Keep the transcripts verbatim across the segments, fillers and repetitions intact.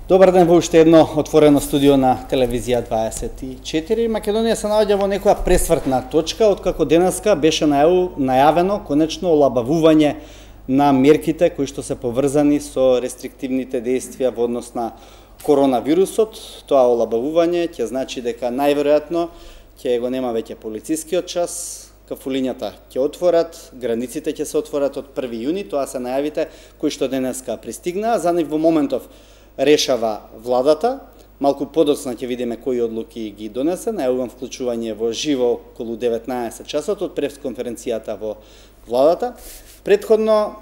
Добар ден во уште едно отворено студио на телевизија дваесет и четири. Македонија се наоѓа во некоја пресвртна точка, откако денеска беше најавено конечно олабавување на мерките кои што се поврзани со рестриктивните действија во однос на коронавирусот. Тоа олабавување ќе значи дека најверојатно ќе го нема веќе полицискиот час, кафулињата ќе отворат, границите ќе се отворат од први јуни, тоа се најавите кои што денеска пристигнаа. За нив во моментов решава владата. Малку подоцна ќе видиме кои одлуки ги донесе. Најавувам вклучување во живо околу деветнаесет часот од пресконференцијата во владата. Предходно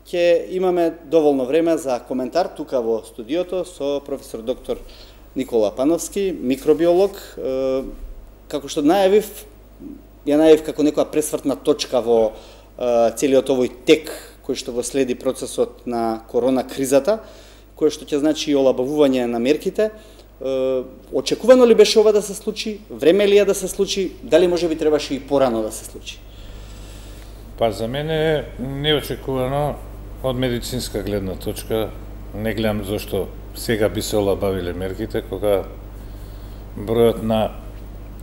ќе имаме доволно време за коментар тука во студиото со професор доктор Никола Пановски, микробиолог. Како што најавив, ја најавив како некоја пресвртна точка во целиот овој тек кој што го следи процесот на корона кризата, кој што ќе значи олабавување на мерките. Очекувано ли беше ова да се случи? Време ли е да се случи? Дали може би требаше и порано да се случи? Па за мене е неочекувано од медицинска гледна точка. Не гледам зашто сега би се олабавиле мерките, кога бројот на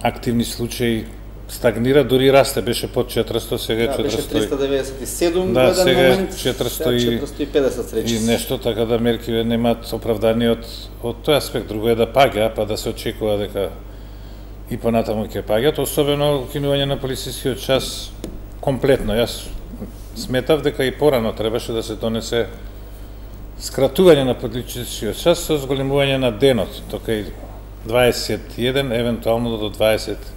активни случаи стагнира, дури расте, беше под четиристотини, сега е да, четиристотини. Беше триста деветдесет и седум да, во еден сега момент, четиристотини и педесет речиси. И нешто, така да мерки немаат оправдание од, од тој аспект. Друго е да паѓа, па да се очекува дека и понатаму ќе паѓат, особено укинување на полицискиот час комплетно. Јас сметав дека и порано требаше да се донесе скратување на полицискиот час со зголемување на денот, тока и дваесет и еден, евентуално до дваесет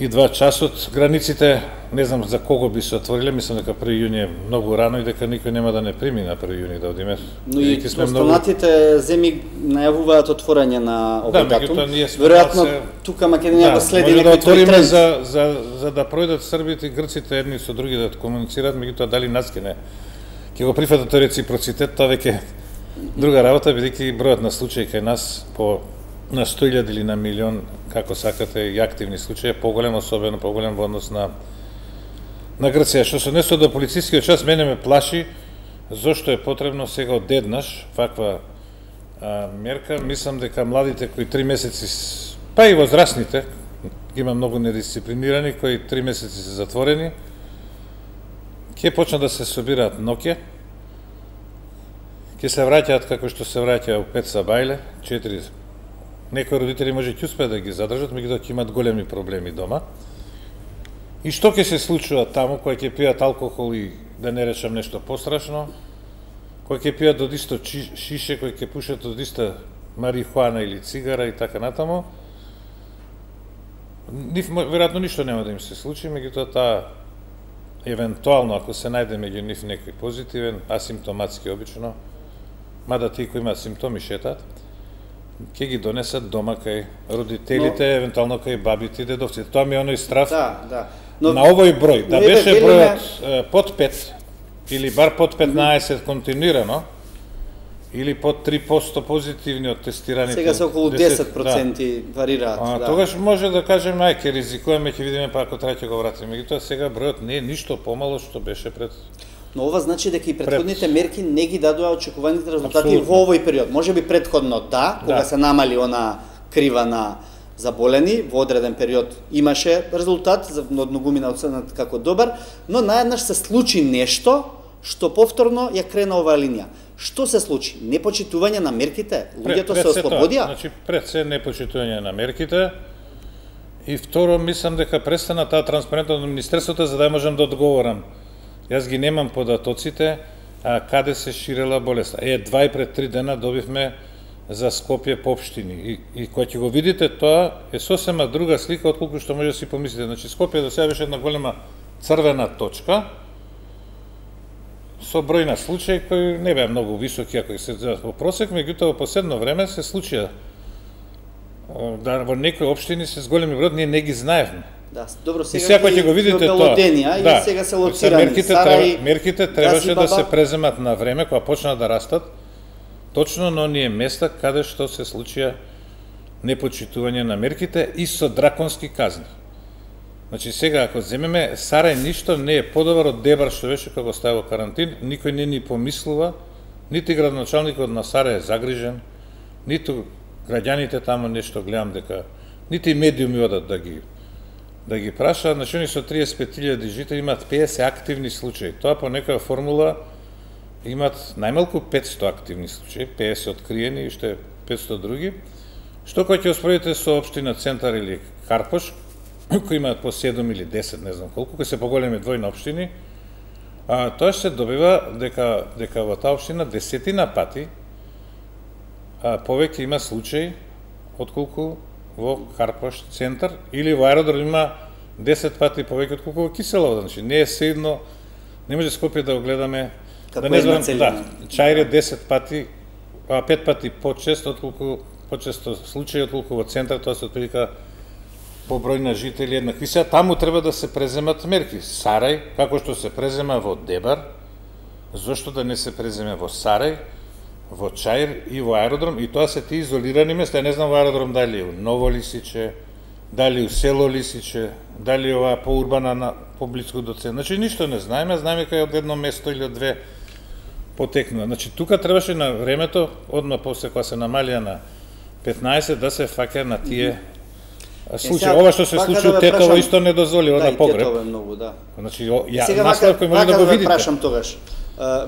и два часот. Границите, не знам за кого би се отвориле, мислам дека први јуни е многу рано и дека никој нема да не прими на први јуни да одиме. Но и останатите многу... земји најавуваат отворање на овој да, датум. Да, веројатно се... тука Македонија да, го следи некој да тој тренд. За, за, за да пројдат србите и грците едни со други да комуницираат, меѓутоа дали нас ќе не ќе го прифатат тој реципроцитет, тоа веќе друга работа, бидејќи бројот на случаи кај нас по на сто илјади или на милион, како сакате, и активни случаи, поголем, особено поголем во однос на на Грција. Што се однесува до полицискиот час, мене ме плаши зошто е потребно сега одеднаш ваква а, мерка. Мислам дека младите кои три месеци, па и возрастните, има многу недисциплинирани кои три месеци се затворени, ќе почнат да се собираат ноќе, ќе се враќаат како што се враќаа у пет сабајле, четири. Некои родители може ќе успеат да ги задржат, меѓутоа ќе имат големи проблеми дома. И што ќе се случува таму, кои ќе пијат алкохол и да не речам нешто пострашно, кои ќе пијат од исто шише, кои ќе пушат од иста марихуана или цигара и така натаму, нив веројатно ништо нема да им се случи, меѓутоа таа евентуално ако се најде меѓу нив некој позитивен, асимптоматски обично, мада тие кои имаат симптоми шетаат, ќе ги донесат дома кај родителите, но, евентуално кај бабите и дедовците. Тоа ми е оној страф да, да. Но, на овој број. Да беше велиме... бројот под пет, или бар под петнаесет mm-hmm. континуирано, или под три проценти позитивни од тестираните. Сега се околу десет проценти да. Варираат. А, да. Тогаш може да кажеме, ај, ќе ризикуваме, ќе видиме, па ако треба ќе го вратиме. Меѓутоа сега бројот не е ништо помало што беше пред... Но ова значи дека и претходните пред... мерки не ги дадоа очекуваните резултати Абсолютно. Во овој период. Може би претходно да, кога да. Се намали она крива на заболени, во одреден период имаше резултат, од многумина оценет како добар, но наеднаш се случи нешто што повторно ја крена оваа линија. Што се случи? Непочитување на мерките? Луѓето се ослободија? Значи, пред се непочитување на мерките и второ, мислам дека престана таа транспарентност на Министерството за да можам да одговорам. Јас ги немам податоците, а каде се ширела болеста. Е, два и пред три дена добивме за Скопје по општини. И, и кога ќе го видите, тоа е сосема друга слика, отколку што може да си помислите. Значи, Скопје до сега беше една голема црвена точка, со број на случаи кои не беа многу високи, ако се во просек, меѓутоа во последно време се случија да во некои општини се големи број, ние не ги знаевме. Да, добро, сега, сега ќе го видите тоа. Да, и сега се лоцирани мерките, Сарај, треба, мерките требаше да се преземат на време кога почнаа да растат, точно на оние места каде што се случија непочитување на мерките и со драконски казни. Значи сега ако земеме Сарај ништо не е подобар од Дебар што беше кога стави во карантин, никој не ни помислува, нити градоначалникот на Сарај е загрижен, ниту граѓаните таму нешто гледам дека, нити и медиуми одат да ги да ги прашаат, значи они со триесет и пет илјади жители имаат педесет активни случаи. Тоа по некоја формула имаат најмалку петсто активни случаи, педесет откриени и уште петсто други. Што кога ќе успоредите со општина Центар или Карпош, кои имаат по седум или десет, не знам колку, кои се поголеми двојни општини, а, тоа се добива дека дека во таа општина десетина пати а, повеќе има случаи отколку во Карпош Центар, или во Аеродром има десет пати повеќе отколку во Киселово. Значи не е седно, не може Скопје да го гледаме, како да не знам, целина. да, Чаир е десет пати, а пет пати почесто отколку почесто случаи отколку во Центар, тоа се отприлика по број на жители еднакви. Сега таму треба да се преземат мерки. Сарај, како што се презема во Дебар, зошто да не се преземе во Сарај, во Чаир и во Аеродром, и тоа се ти изолирани места. Ја не знам во Аеродром дали е у Ново Лисиче, дали у село Лисиче, дали ова поурбана на поблиску до центар. Значи ништо не знаеме, знаеме кај од едно место или од две потекнува. Значи тука требаше на времето, одма после кога се намалија на петнаесет, да се фаќа на тие случаи. Ова што се случи у Тетово исто не дозволи, да, на погреб. Тетово е многу, да. Значи ја сега наслов кој може да го видите. Прашам тогаш.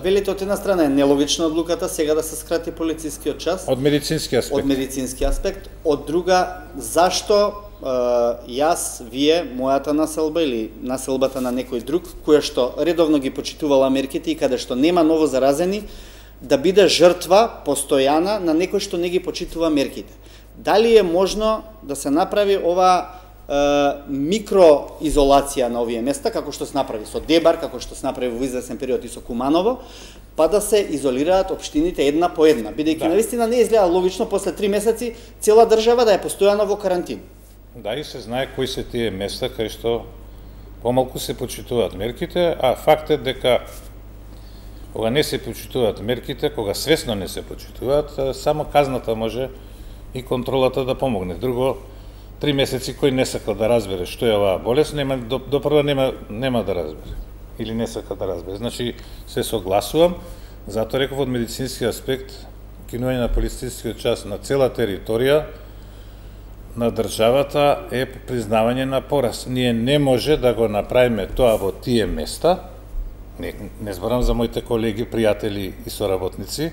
Велите од една страна е нелогична одлуката сега да се скрати полицискиот час. Од медицински аспект. Од медицински аспект. Од друга, зашто јас, вие, мојата населба или населбата на некој друг, која што редовно ги почитувала мерките и каде што нема ново заразени, да биде жртва постојана на некој што не ги почитува мерките. Дали е можно да се направи ова е, микроизолација на овие места, како што се направи со Дебар, како што се направи во известен период и со Куманово, па да се изолираат општините една по една, бидејќи да. Навистина не изгледа логично после три месеци цела држава да е постојано во карантин. Да, и се знае кои се тие места кај што помалку се почитуваат мерките, а факт е дека кога не се почитуваат мерките, кога свесно не се почитуваат, само казната може и контролата да помогне. Друго, три месеци кој не сака да разбере што е оваа болест, нема, до, до прва нема, нема да разбере. Или не сака да разбере. Значи, се согласувам, затоа реков од медицински аспект, кинување на полицискиот час на цела територија на државата е признавање на пораз. Ние не може да го направиме тоа во тие места, не, не зборам за моите колеги, пријатели и соработници,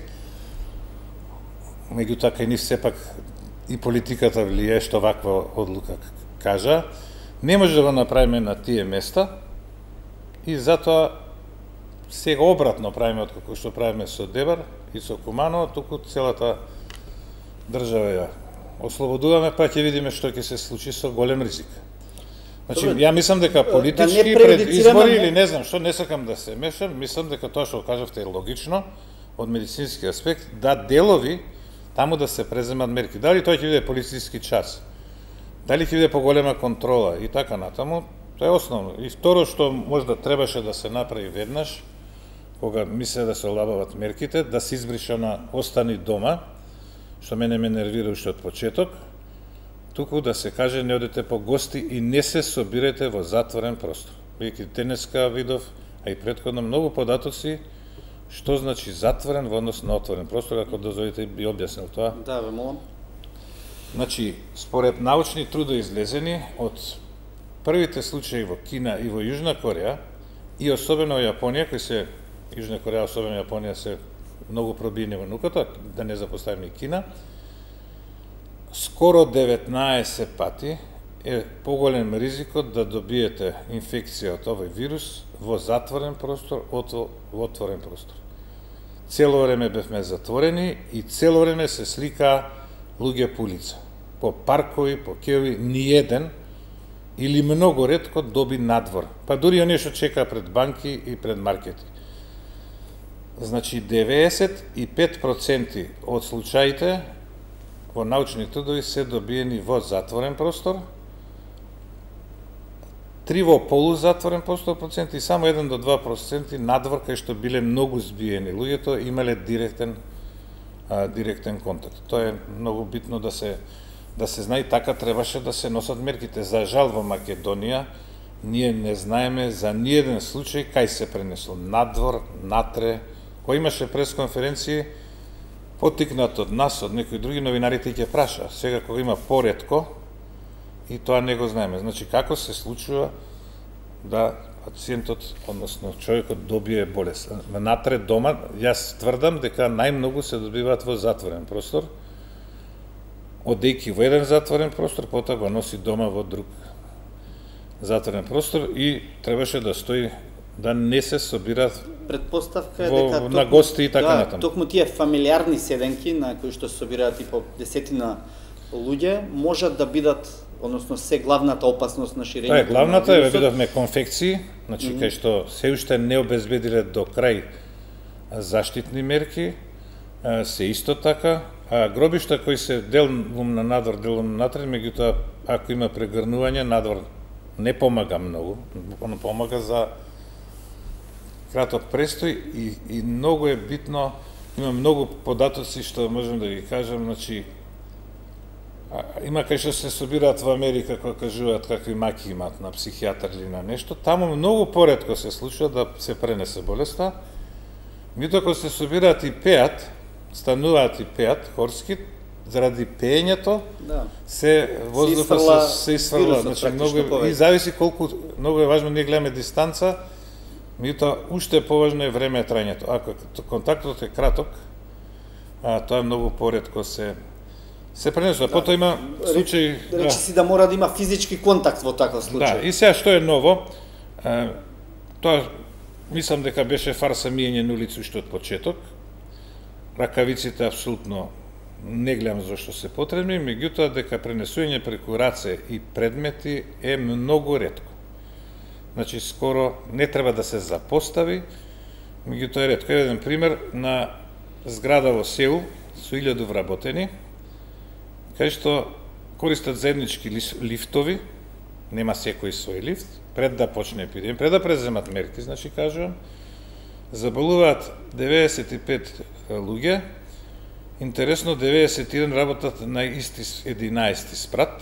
меѓутоа кај нив сепак и политиката влијае што ваква одлука кажа, не може да го направиме на тие места и затоа сега обратно правиме од како што правиме со Дебар и со Куманово, туку целата држава ја ослободуваме, па ќе видиме што ќе се случи со голем ризик. Значи, ја мислам дека политички да пред избори или не знам што, не сакам да се мешам, мислам дека тоа што кажавте е логично од медицински аспект, да делови таму да се преземат мерки. Дали тоа ќе биде полициски час, дали ќе биде поголема контрола и така натаму, тоа е основно. И второ што можда требаше да се направи веднаш, кога мисле да се олабават мерките, да се избрише на остани дома, што мене ме нервира уште од почеток, туку да се каже не одете по гости и не се собирате во затворен простор. Бидејќи денеска видов, а и претходно многу податоци што значи затворен во однос на отворен простор, ако дозволите би објаснил тоа. Да, ве молам. Значи, според научни трудови излезени од првите случаи во Кина и во Јужна Кореја и особено во Јапонија, кои се Јужна Кореја, особено Јапонија се многу пробиени во науката, да не запоставиме и Кина, скоро деветнаесет пати е поголем ризикот да добиете инфекција од овој вирус во затворен простор од во отворен простор. Цело време бевме затворени и цело време се слика луѓе по улица. По паркови, по кеови, ниеден или многу ретко доби надвор. Па дури оние што чека пред банки и пред маркети. Значи, деветдесет и пет проценти од случаите во научни трудови се добиени во затворен простор, три во полузатворен простор проценти и само еден до два проценти надвор кај што биле многу збиени. Луѓето имале директен а, директен контакт. Тоа е многу битно да се да се знае, така требаше да се носат мерките. За жал во Македонија ние не знаеме за ниеден случај кај се пренесло надвор, натре. Кој имаше пресконференции поттикнат од нас, од некои други новинарите ќе праша. Сега кога има поретко, и тоа не го знаеме. Значи, како се случува да пациентот, односно човекот добие болест. Внатре дома, јас тврдам дека најмногу се добиваат во затворен простор, одејки во еден затворен простор, потоа го носи дома во друг затворен простор и требаше да стои да не се собираат предпоставка е во, дека на гости и така да, натаму. Токму тие фамилиарни седенки на кои што се собираат и по десетина луѓе можат да бидат, односно се главната опасност на ширење. Тоа е главната, е видовме конфекции, значи mm -hmm. кај што се уште не обезбедиле до крај заштитни мерки, се исто така, а гробишта кои се делум на надвор, делум на натре, меѓутоа ако има прегрнување, надвор не помага многу, он помага за краток престој и, и многу е битно, има многу податоци што можем да ги кажам, значи има кај што се собираат во Америка кога кажуваат какви маки имаат на психијатар или на нешто, таму многу поретко се случува да се пренесе болеста. Меѓутоа кога се собираат и пеат, стануваат и пеат хорски, заради пеењето да. се воздуха се, се исфрла, значи многу и зависи колку многу е важно ние гледаме дистанца, меѓутоа уште поважно е време трајањето. Ако контактот е краток, а тоа е многу поретко се се пренесува. Да. Потоа има случаи... Речи да. си да мора да има физички контакт во таков случај. Да, и сега што е ново, е, тоа мислам дека беше фарса миење на улици уште од почеток. Ракавиците апсолутно не гледам зашто се потребни, меѓутоа дека пренесување преку раце и предмети е многу ретко. Значи, скоро не треба да се запостави, меѓутоа е ретко. Еден пример на зграда во Сеул со илјаду вработени, кај што користат заеднички лифтови, нема секој свој лифт, пред да почне епидемија, пред да преземат мерки, значи кажувам, заболуваат деветдесет и пет луѓе, интересно деветдесет и еден работат на исти единаесети спрат,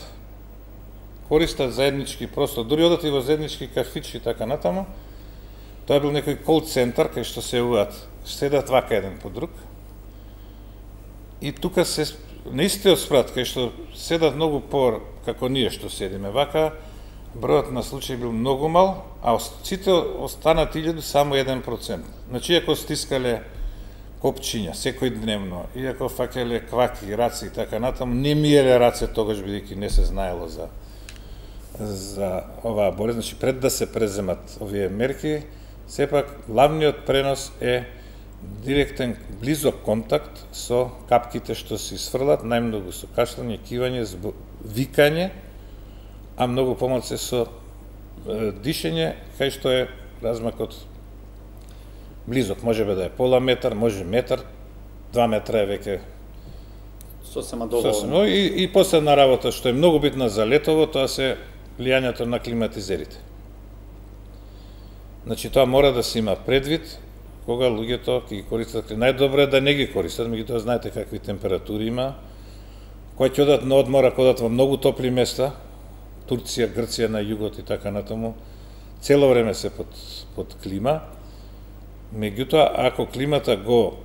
користат заеднички простор, дури одат и во заеднички кафичи и така натаму, тоа бил некој кол центар кај што се јавуваат, седат вака еден по друг, и тука се на истиот спрат, кај што седат многу по како ние што седиме вака, бројот на случаи бил многу мал, а сите останат илјаду само еден процент. Значи, ако стискале копчиња секој дневно, и ако факеле кваки, раци и така натаму, не миеле раце тогаш бидејќи не се знаело за за оваа болест, значи пред да се преземат овие мерки, сепак главниот пренос е директен близок контакт со капките што се исфрлат, најмногу со кашлање, кивање, викање, а многу помалку со е, дишење, кај што е размакот близок, може да е пола метар, може метар, два метра е веќе сосема доволно. И, и последна работа што е многу битна за летово, тоа се влијањето на климатизерите. Значи тоа мора да се има предвид кога луѓето ќе ги користат. Најдобро е да не ги користат, меѓутоа знаете какви температури има. Кои ќе одат на одмор, ако одат во многу топли места, Турција, Грција на југот и така натаму, цело време се под, под клима. Меѓутоа, ако климата го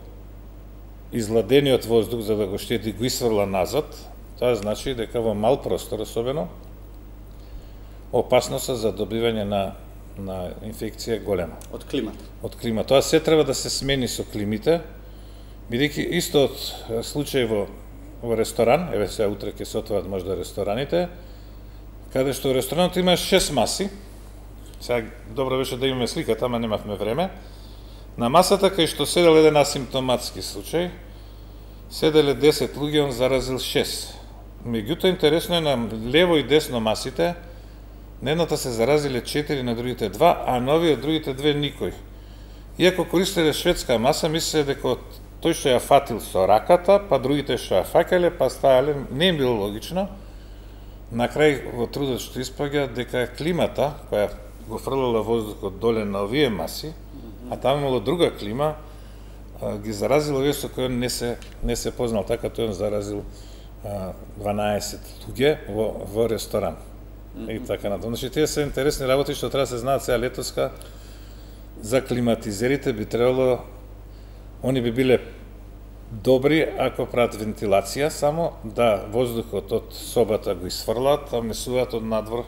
изладениот воздух за да го штети го исфрла назад, тоа значи дека во мал простор особено опасноста за добивање на на инфекција голема. Од климата. Од климата. Тоа се треба да се смени со климите, бидејќи исто од случај во, во ресторан, еве сега утре ќе се отворат можда рестораните, каде што ресторанот има шест маси, сега добро беше да имаме слика, тама немавме време, на масата кај што седел еден асимптоматски случај, седеле десет луѓе, он заразил шест. Меѓутоа интересно е на лево и десно масите, на едната се заразиле четири, на другите два, а на овие другите две никој. Иако користеле шведска маса, мислеле дека тој што ја фатил со раката, па другите што ја факеле, па стајале, не им било логично. На крај во трудот што испаѓа дека климата, која го фрлала воздухот доле на овие маси, а таму имало друга клима, ги заразил овие со кои не се не се познал, така тој он заразил дванаесет луѓе во во ресторан. И така натаму. Значи, тие се интересни работи што треба да се знаат сега летоска за климатизерите, би требало, они би биле добри ако прават вентилација само, да воздухот од собата го исфрлат, а внесуваат од надвор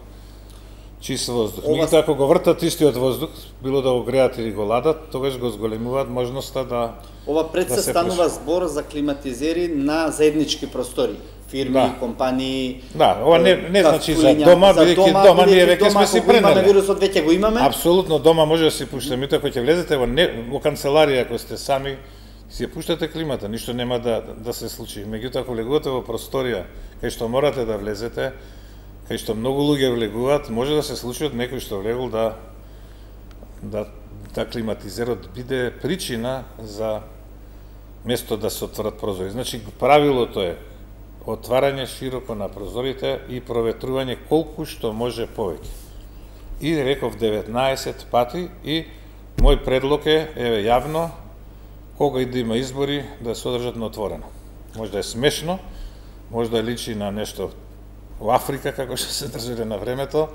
чист воздух. Ова... Меѓутоа, ако го вртат истиот воздух, било да го греат или го ладат, тогаш го зголемуваат можноста да Ова пред се да станува преш... збор за климатизери на заеднички простори. Фирми, да. компании. Да, ова не не значи за дома, бидејќи дома, дома ние веќе сме си пренеле. Имаме вирусот, веќе го имаме. Апсолутно, дома може да си пуштаме, ако ќе влезете во не во канцеларија, ако сте сами, си ја пуштате климата, ништо нема да да се случи. Меѓутоа, ако влегувате во просторија кај што морате да влезете, кај што многу луѓе влегуваат, може да се случи од некој што влегол да да да климатизерот биде причина за место да се отворат прозори. Значи, правилото е отварање широко на прозорите и проветрување колку што може повеќе. И реков деветнаесет пати и мој предлог е, еве, јавно, кога и да има избори, да се одржат на отворено. Може да е смешно, може да личи на нешто во Африка, како што се држале на времето,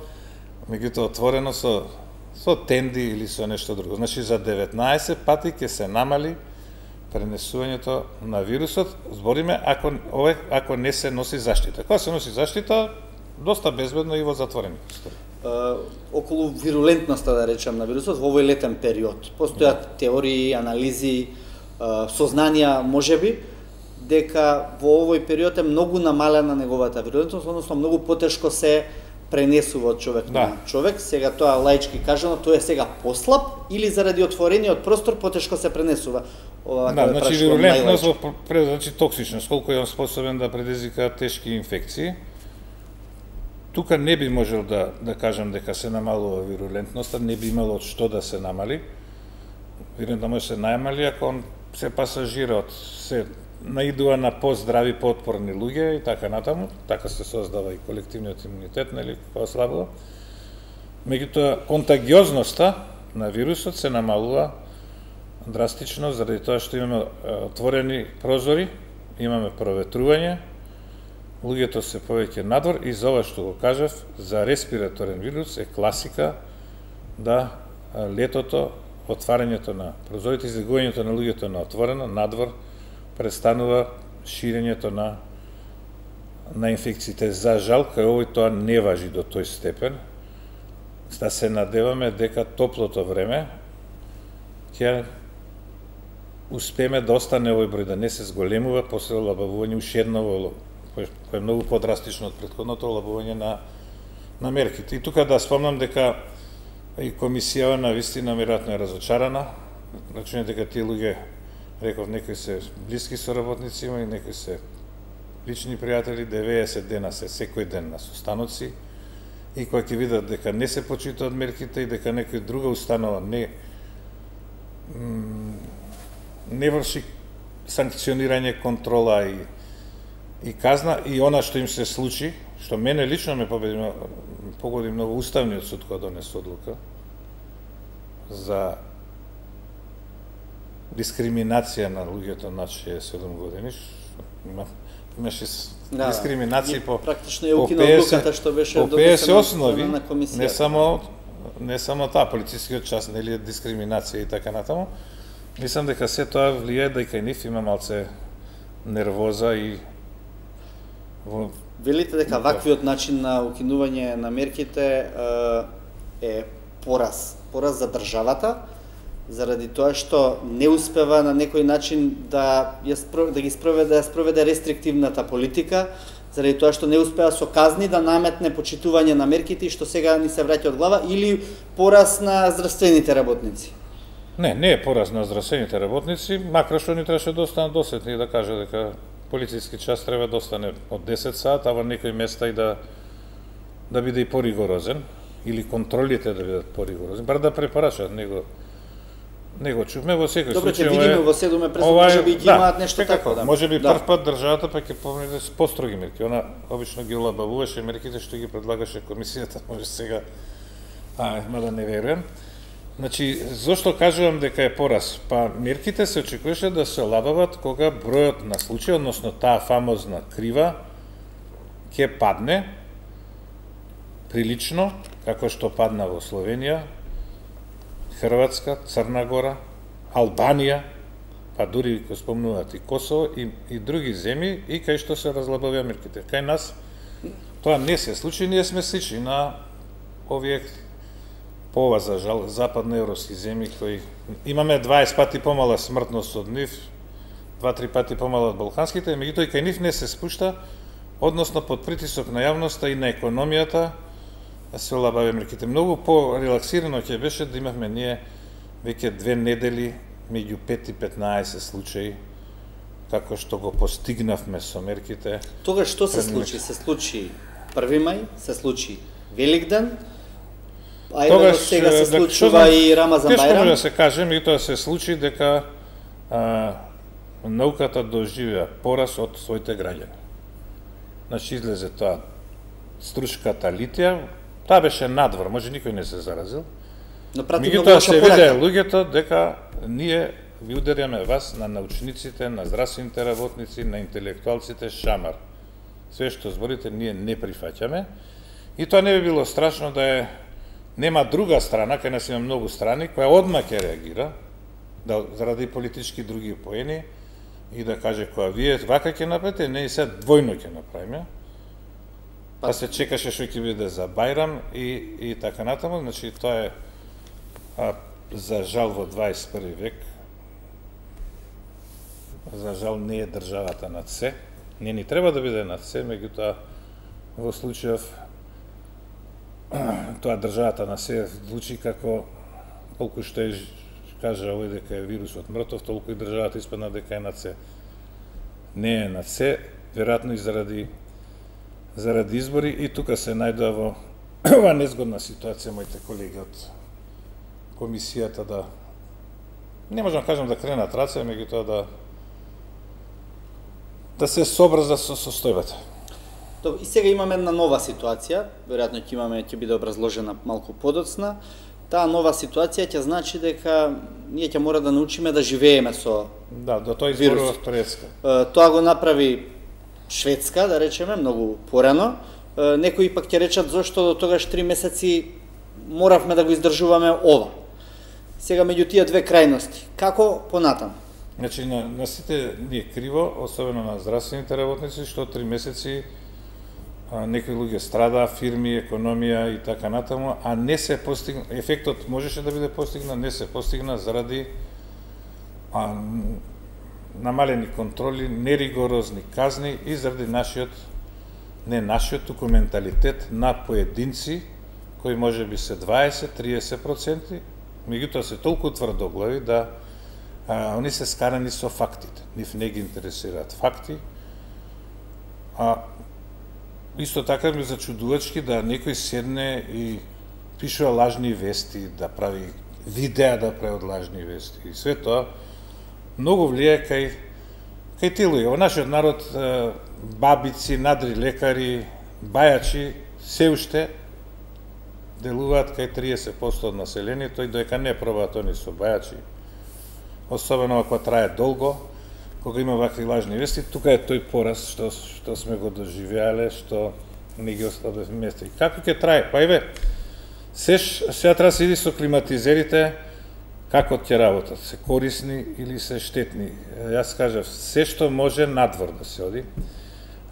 меѓутоа отворено со, со тенди или со нешто друго. Значи, за деветнаесет пати ќе се намали пренесувањето на вирусот, збориме ако ове ако не се носи заштита. Кога се носи заштита, доста безбедно и во затворени простори. Uh, околу вирулентноста, да речем, на вирусот во овој летен период. Постојат да. теории, анализи, uh, сознанија, можеби, дека во овој период е многу намалена неговата вирулентност, односно многу потешко се пренесува од човек да. на човек. Сега тоа лаички кажано, тоа е сега послаб или заради отворениот простор потешко се пренесува. Ова, да, значи вирулентност, значи токсичност, колку е он способен да предизвика тешки инфекции. Тука не би можел да да кажам дека се намалува вирулентноста, не би имало од што да се намали. Вирулентно може се најмали ако он се пасажира од се наидува на поздрави, поотпорни луѓе и така натаму, така се создава и колективниот имунитет, нели, ослабува. Меѓутоа, контагиозноста на вирусот се намалува драстично, заради тоа што имаме отворени прозори, имаме проветрување, луѓето се повеќе надвор и за ова што го кажав, за респираторен вирус е класика да летото, отварањето на прозорите, излегувањето на луѓето на отворено, надвор, престанува ширењето на на инфекциите. За жал, кај овој тоа не важи до тој степен. Да се надеваме дека топлото време ќе успееме да остане овој број, да не се зголемува после олабавување уште едно во кој е многу подрастично од претходното олабување на на мерките. И тука да спомнам дека и комисијава на вистина веројатно е разочарана. Рачуне дека тие луѓе, реков, некои се блиски соработници има и некои се лични пријатели, деветдесет дена се секој ден на состаноци и кога ќе видат дека не се почитаат мерките и дека некој друга установа не не врши санкционирање, контрола и и казна, и она што им се случи, што мене лично ме победи, погоди многу, Уставниот суд кога донесе одлука за дискриминација на луѓето над шеесет и седум години, има, имаше да, дискриминации по практично е укинал одлуката што беше по петдесет основи, на комисија. Не само не само таа полицискиот час, нели, дискриминација и така натаму. Мислам дека се тоа влијае дека и нив има малце нервоза и во... Велите дека ваквиот начин на укинување на мерките е пораз, пораз за државата, заради тоа што не успева на некој начин да ја спроведе, да ги спроведе, да ја спроведе рестриктивната политика, заради тоа што не успеа со казни да наметне почитување на мерките и што сега ни се враќа од глава, или пораз на здравствените работници? Не, не е пораз на здравствените работници, макар што ни требаше да останат досетни и да каже дека полициски час треба да остане од десет сат, а во некои места и да да биде и поригорозен, или контролите да бидат поригорозни, бар да препорачат него. Не го чувме во секој Добре, случај. Добре, ќе видиме во седуме пресо, може би ќе да, имаат нешто тако, да. Може би да. прв пат државата па ќе помине с построги мерки. Она обично ги олабавуваше мерките што ги предлагаше комисијата, може сега, а, мада не верувам. Значи, зошто кажувам дека е пораз? Па мерките се очекуваше да се олабават кога бројот на случаи, односно таа фамозна крива, ќе падне прилично, како што падна во Словенија, Хрватска, Црна Гора, Албанија, па дури го спомнуваат и Косово и, и други земји, и кај што се разлабавија мерките. Кај нас тоа не се случи, ние сме слични на овие по ова за жал западноевропски земји кои имаме дваесет пати помала смртност од нив, два-три пати помала од балканските, меѓутоа и кај нив не се спушта, односно под притисок на јавноста и на економијата се олабавија мерките. Многу по-релаксирано ќе беше да имавме ние веќе две недели меѓу пет и петнаесет случаи како што го постигнавме со мерките. Тогаш што се случи? Се случи први мај, се случи Великден, а еве сега се случува и Рамазан Бајрам. Тешко може да се каже, меѓутоа се случи дека а, науката доживеа пораз од своите граѓани. Значи излезе тоа струшката литија, таа беше надвор, може никој не се заразил. Меѓутоа се виде луѓето дека ние ви ударяме вас на научниците, на здравствените работници, на интелектуалците шамар. Све што зборите ние не прифаќаме. И тоа не би било страшно да е нема друга страна, кај нас има многу страни, која одма ќе реагира, да заради политички други поени, и да каже која вие вака ќе направите, не и се двојно ќе направиме. Па се чекаше што ќе биде за Бајрам и, и така натаму, значи тоа е а, за жал во дваесет и први век, за жал не е државата над се, не ни треба да биде над се, меѓутоа во случајов тоа државата на се звучи како колку што е кажа овој дека е вирусот мртов, толку и државата испадна дека е над се. Не е над се, веројатно и заради заради избори, и тука се најдува во ова незгодна ситуација моите колеги од комисијата да не можам да кажам да кренат раце, меѓутоа да да се сообразат со состојбата. Добро, и сега имаме една нова ситуација, веројатно ќе имаме ќе биде образложена малку подоцна. Таа нова ситуација ќе значи дека ние ќе мора да научиме да живееме со Да, до тоа изборува Турецка. Тоа го направи Шведска, да речеме, многу порано. Некои пак ќе речат зошто до тогаш три месеци моравме да го издржуваме ова. Сега меѓу тие две крајности, како понатаму? Значи на, на сите ни е криво, особено на здравствените работници, што три месеци а, некои луѓе страда, фирми, економија и така натаму, а не се постигна, ефектот можеше да биде постигнат, не се постигна заради а, намалени контроли, неригорозни казни и заради нашиот, не нашиот, туку менталитет на поединци, кои може би се дваесет до триесет проценти, меѓутоа се толку тврдоглави да а, они се скарани со фактите. Нив не ги интересираат факти. А исто така ми зачудувачки да некој седне и пишува лажни вести, да прави видеа да прави од лажни вести. И све тоа многу влијае кај кај тие луѓе. Во нашиот народ бабици, надри лекари, бајачи се уште делуваат кај триесет проценти од населението и доека не пробаат они со бајачи. Особено ако трае долго, кога има вакви лажни вести, тука е тој пораз што што сме го доживеале, што не ги остави место. И како ќе трае? Па еве, сеш сега треба да се иди со климатизерите, како ќе работат, се корисни или се штетни. Јас кажав, се што може надвор да се оди.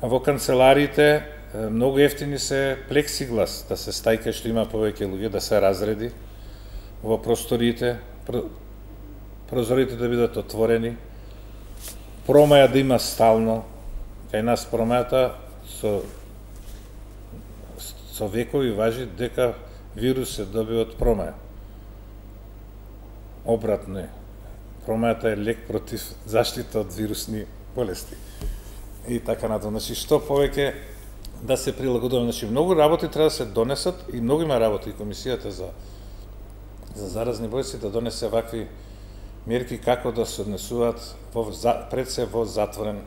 Во канцелариите многу ефтини се плексиглас, да се стајка што има повеќе луѓе, да се разреди во просториите, прозорите да бидат отворени, промаја да има стално. Кај нас промајата со со векови важи дека вирус се добива од промаја. Обратно е. Промајата е лек против заштита од вирусни болести. И така натаму. Значи, што повеќе да се прилагодуваме. Значи, многу работи треба да се донесат и многу има работи и комисијата за за заразни болести да донесе вакви мерки како да се однесуваат во, пред се во затворен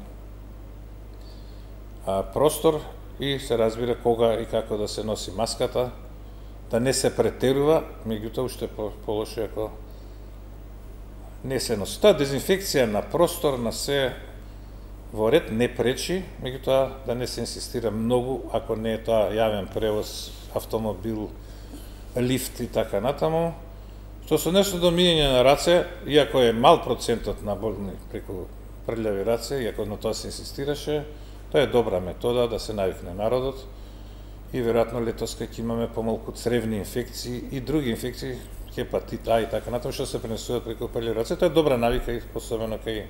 а, простор и се разбира кога и како да се носи маската, да не се претерува, меѓутоа уште полошо ако не се носи. Тоа дезинфекција на простор, на се во ред не пречи, меѓутоа да не се инсистира многу, ако не е тоа јавен превоз, автомобил, лифт и така натаму, Што се нешто до мијање на раце, иако е мал процентот на болни преку прљави раце, иако на тоа се инсистираше, тоа е добра метода да се навикне народот и веројатно летос ќе имаме помалку цревни инфекции и други инфекции, хепатит А и така натаму што се пренесуваат преку прљави раце, тоа е добра навика и особено кај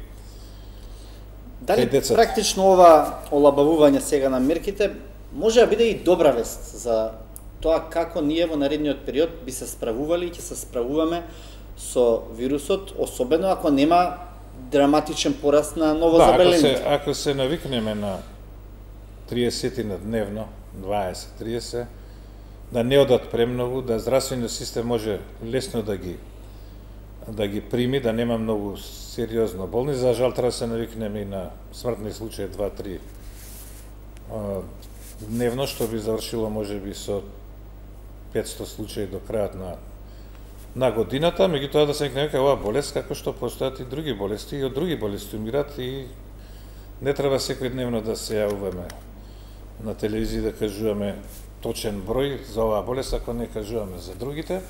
Дали практично ова олабавување сега на мерките може да биде и добра вест за тоа како ние во наредниот период би се справували и ќе се справуваме со вирусот, особено ако нема драматичен пораст на новозаболените? Да, ако се, ако се навикнеме на триесет на дневно, дваесет тридесет, да не одат премногу, да здравствениот систем може лесно да ги да ги прими, да нема многу сериозно болни. За жал треба да се навикнеме и на смртни случаи два-три дневно, што би завршило можеби со петсто случаи до крајот на на годината, меѓутоа да се навикнеме кај оваа болест, како што постојат и други болести, и од други болести умират и не треба секој дневно да се јавуваме на телевизија да кажуваме точен број за оваа болест, ако не кажуваме за другите.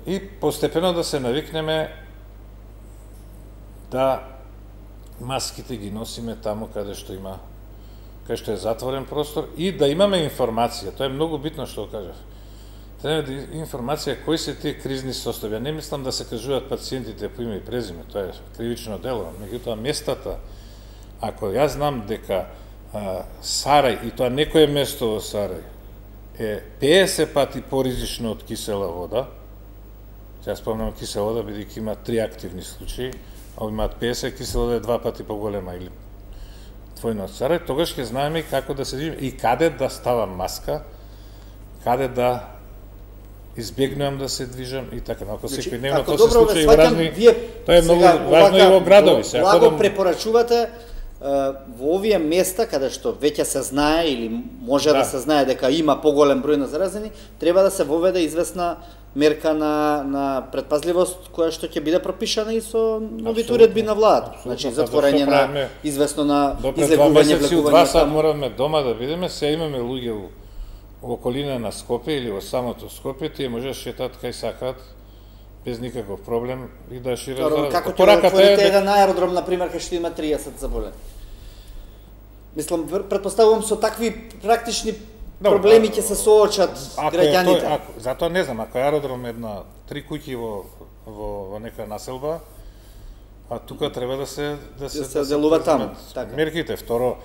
И постепено да се навикнеме да маските ги носиме таму каде што има, каде што е затворен простор и да имаме информација. Тоа е многу битно што кажав. Треба да информација кои се тие кризни состојби. Не мислам да се кажуваат пациентите по име и презиме, тоа е кривично дело. Меѓутоа местата, ако јас знам дека а, Сарај, и тоа некое место во Сарај, е педесет пати поризично од кисела вода, ја спомнам кисела вода, бидејќи има три активни случаи, а имаат педесет, кисела вода е два пати поголема или двојно од Сарај, тогаш ќе знаеме како да се движиме и каде да ставам маска, каде да избегнувам да се движам и така. Ако значи, секој дневно тоа се случаи во разни, вие, тоа е многу важно и во градови. Се благо да препорачувате во овие места каде што веќе се знае или може да, да се знае дека има поголем број на заразени, треба да се воведе известна мерка на на предпазливост која што ќе биде пропишана и со новите уредби на владата. Значи затворање на известно на излегување, влекување. Два сат мораме дома да бидеме, се имаме луѓе во во околина на Скопје или во самото Скопје, тие може да шетат кај сакаат без никаков проблем и да шират зараза. Како ќе да отворите еден аеродром, например, кај што има триесет заболени? Мислам, претпоставувам со такви практични проблеми ќе се соочат граѓаните. Затоа не знам, ако аеродром е една три куќи во во во нека населба, а тука треба да се да се да се делува таму, така. Мерките. Второ,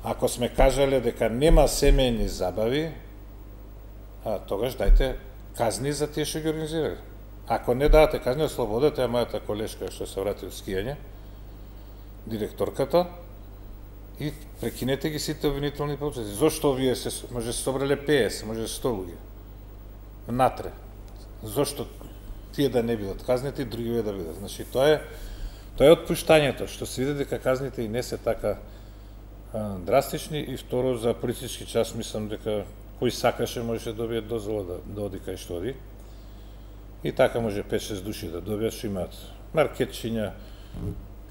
ако сме кажале дека нема семејни забави, а тогаш дајте казни за тие што ги организирале. Ако не дадете казни, ослободете ја мојата колешка што се врати од скијање, директорката, и прекинете ги сите обвинителни процеси. Зошто вие се може се собрале педесет, може сто луѓе натре? Зошто тие да не бидат казнети, други да бидат? Значи тоа е тоа е отпуштањето, што се види дека казните и не се така а, драстични, и второ за полицички час мислам дека кој сакаше можеше да добие дозвола да, да оди кај што оди. И така може пет-шест души да добијат, што имаат маркетчиња,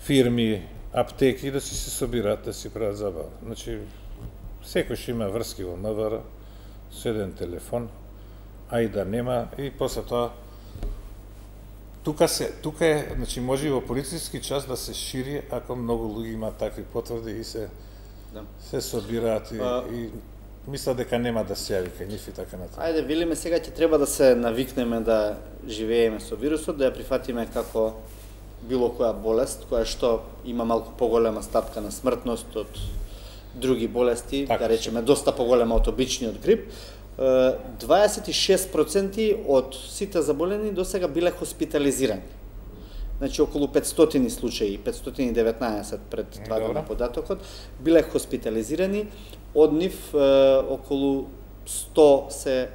фирми, аптеки да си се собираат, да си прават забава. Значи, секој што има врски во МВР, со еден телефон, а и да нема, и после тоа тука се тука е, значи може и во полициски час да се шири ако многу луѓе имаат такви потврди и се да. се собираат и, а... и мисля дека нема да се јави кај нив и така натаму. Ајде, велиме сега ќе треба да се навикнеме да живееме со вирусот, да ја прифатиме како било која болест, која што има малку поголема стапка на смртност од други болести, така, да речеме доста поголема од обичниот грип. дваесет и шест проценти од сите заболени до сега биле хоспитализирани. Значи околу петстотини случаи, петстотини и деветнаесет пред два дена податокот, биле хоспитализирани, од нив е, околу сто се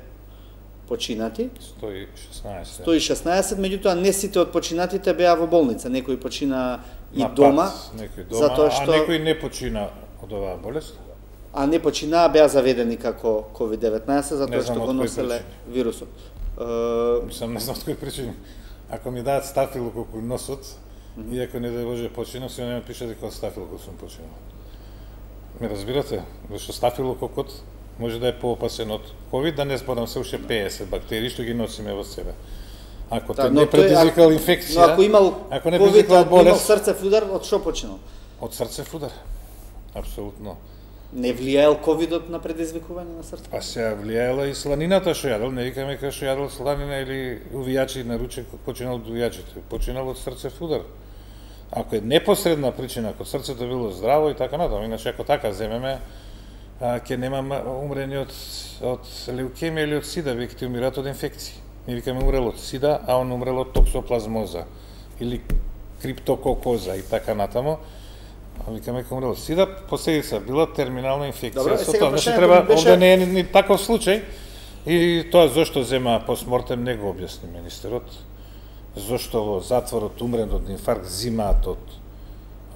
починати. сто и шеснаесет. сто и шеснаесет, меѓутоа не сите од починатите беа во болница, некој почина и на дома, пат, некој дома, затоа што а некој не почина од оваа болест. А не починаа, беа заведени како ковид деветнаесет, затоа што го носеле вирусот. Uh... Мислам, не знам од кој причини. Ако ми дадат стафилокок во носот, mm -hmm. и ако не да Боже починав, се не пише дека од стафилокок сум починал. Ме разбирате? Зашто стафилококот може да е поопасен од ковид, да не зборам се уште педесет бактерии што ги носиме во себе. Ако Да, те но не тој- предизвикал но инфекција, ако имал ако не ковид, предизвикал ако имал болест, срцев удар, од што починал? од срцев удар. Апсолутно. Не влијаел ковидот на предизвикување на срце? Па се влијаела и сланината што јадел, не викаме кај што јадел сланина или увијачи на ручек, починал од увијачите, починал од срцев удар. Ако е непосредна причина, ако срцето било здраво и така натаму, иначе ако така земеме, а, ќе нема умрени од, од леукемија или од сида, веќе ќе умират од инфекции. Не викаме умрел од сида, а он умрел од токсоплазмоза или криптококоза и така натаму. А викаме дека умрел од сида, последица била терминална инфекција. Добро, Со сега тоа, значи прашањето треба, ми беше- овде не е ни, ни таков случај. И тоа зошто зема постмортем не го објасни министерот. Зошто во затворот умрен од инфаркт зимаат од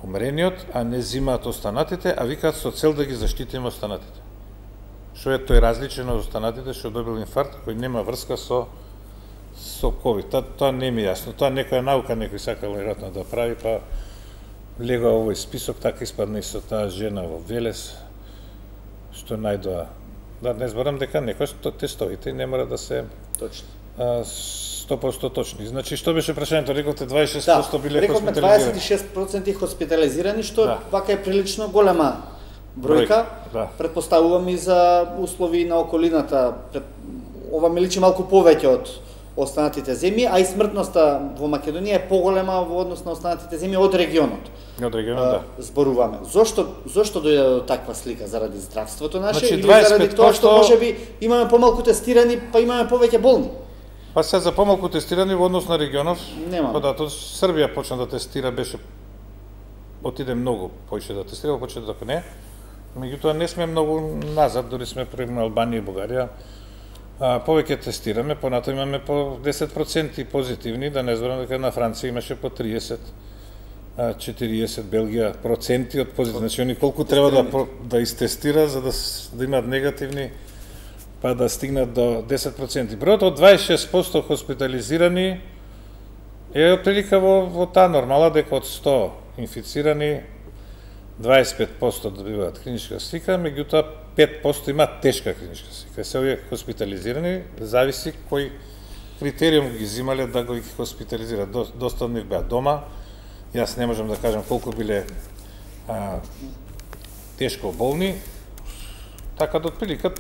умрениот, а не зимаат останатите, а викаат со цел да ги заштитиме останатите. Што е тој различен од останатите што добил инфаркт кој нема врска со со ковид. Тоа, тоа не ми е јасно. Тоа некоја наука некој сакал веројатно да прави, па легува овој список, така испадна и со таа жена во Велес, што најдоа. Да, не зборам дека некој што тестовите не мора да се Точно. а, сто проценти точни. Значи, што беше прашањето? Рековте дваесет и шест проценти биле рековме хоспитализирани. дваесет и шест проценти хоспитализирани, што Да. вака е прилично голема бројка. Бројка, да. Предпоставувам и за услови на околината. Пред... Ова ми личи малку повеќе од останатите земји, а и смртноста во Македонија е поголема во однос на останатите земји од регионот. Од регионот, да. Зборуваме. Зошто зошто дојде до таква слика? Заради здравството наше Значи, или дваесет заради пет тоа што проценти можеби имаме помалку тестирани, па имаме повеќе болни? Па се за помалку тестирани во однос на регионов, Нема. па да, тоа Србија почна да тестира, беше отиде многу поише да тестира, почна дека не. Меѓутоа не сме многу назад, дури сме пред Албанија и Бугарија. А, повеќе тестираме, понато имаме по десет проценти позитивни, да не зборам дека на Франција имаше по триесет, четириесет, Белгија проценти од позитивни. Значи, они колку треба да, про- да истестира за да, с- да имаат негативни, па да стигнат до десет проценти. Бројот од дваесет и шест проценти хоспитализирани е отприлика во, во таа нормала дека од сто инфицирани дваесет и пет проценти добиваат клиничка слика, меѓутоа пет проценти имаат тешка клиничка слика. Се овие хоспитализирани, зависи кој критериум ги земале да го ги хоспитализираат. До- Доста од нив беа дома. Јас не можам да кажам колку биле а, тешко болни, така да отприлика